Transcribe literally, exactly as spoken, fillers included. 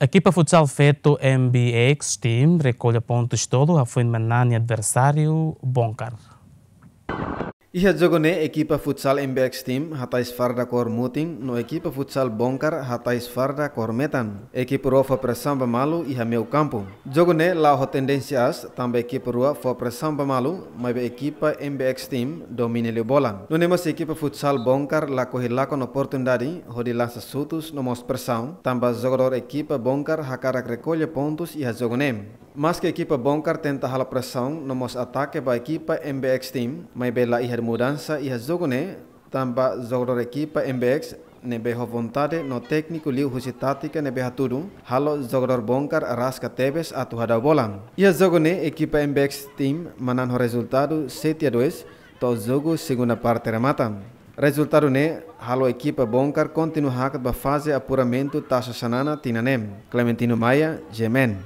Ekipa futsal feto M B X Team rekolla pontus tolu hafoin manán nia adversáriu Bongkar. Iha jogu ne'e ekipa futsal M B X Team hatais farda kór mutin no ekipa futsal Bongkar hatais farda kór metan. Ekipa rua fó presaun ba malu iha meiu kampu. Jogu ne'e la'o ho tendénsia aas, tanba ekipa rua fó presaun ba malu, maibé ekipa M B X Team domina liu bola. Nune'e mós ekipa futsal Bongkar lakohi lakon oportunidade hodi lansa xutus no mós presaun, tanba jogadór ekipa Bongkar hakarak rekolla pontus iha jogu ne'e. Maske ekipa Bongkar tenta halo presaun no mós atake ba ekipa M B X Team, maibé la iha mudansa iha jogu ne'e, tanba jogadór ekipa M B X ne'ebé ho vontade no tékniku liuhusi tátika ne'ebé hatudu, halo jogadór Bongkar araska tebes atu hadau bola. Iha jogu ne'e ekipa M B X Team manán ho rezultadu sete a dois, to'o jogu segunda parte remata. Rezultadu ne'e halo ekipa Bongkar kontinua hakat ba faze apuramentu Taça Xanana tinan ne'e. Clementino Maia, G M N.